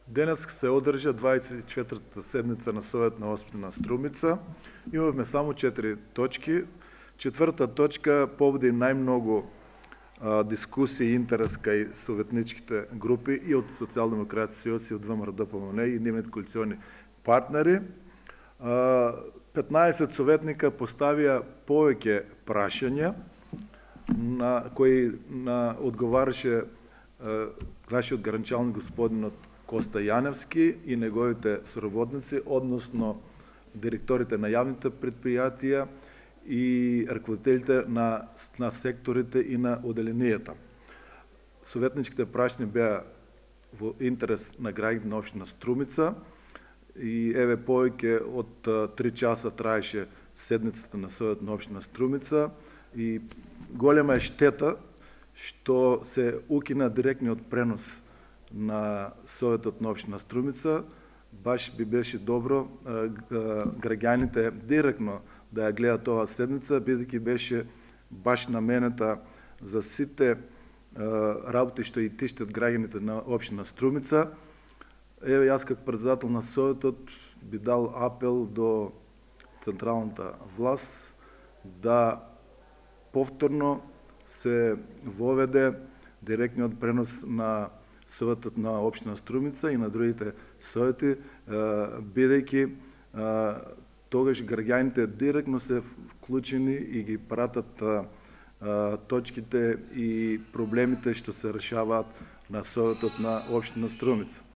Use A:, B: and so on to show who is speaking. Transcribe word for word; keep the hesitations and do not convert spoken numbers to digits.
A: Денес се одржа дваесет и четвртата седница на Совет на општина Струмица. Имавме само четири точки. Четврта точка поводи најмногу а, дискусија и интерес кај советничките групи и од Социјалдемократски сојуз и од ВМРО-ДПМН и нивните коалициони партнери. А, петнаесет советника поставија повеќе прашања на кои на одговараше а, нашиот граничалник господинот Коста Јаневски и неговите соработници, односно директорите на јавните предпријатија и раководителите на, на секторите и на оделенијата. Советничките прашања беа во интерес на граѓаните на општина Струмица и еве повеќе од три часа траеше седницата на Совет на општина Струмица и голема е штета што се укина директниот пренос на Советот на општина Струмица. Баш би беше добро граѓаните директно да ја гледаат оваа седница, бидејќи беше баш наменета за сите работи што и тиштат граѓаните на општина Струмица. Еве јас како председател на Советот би дал апел до централната власт да повторно се воведе директниот пренос на Советот на општина Струмица и на другите совети, бидејќи тогаш граѓаните директно се вклучени и ги пратат точките и проблемите што се решаваат на Советот на општина Струмица.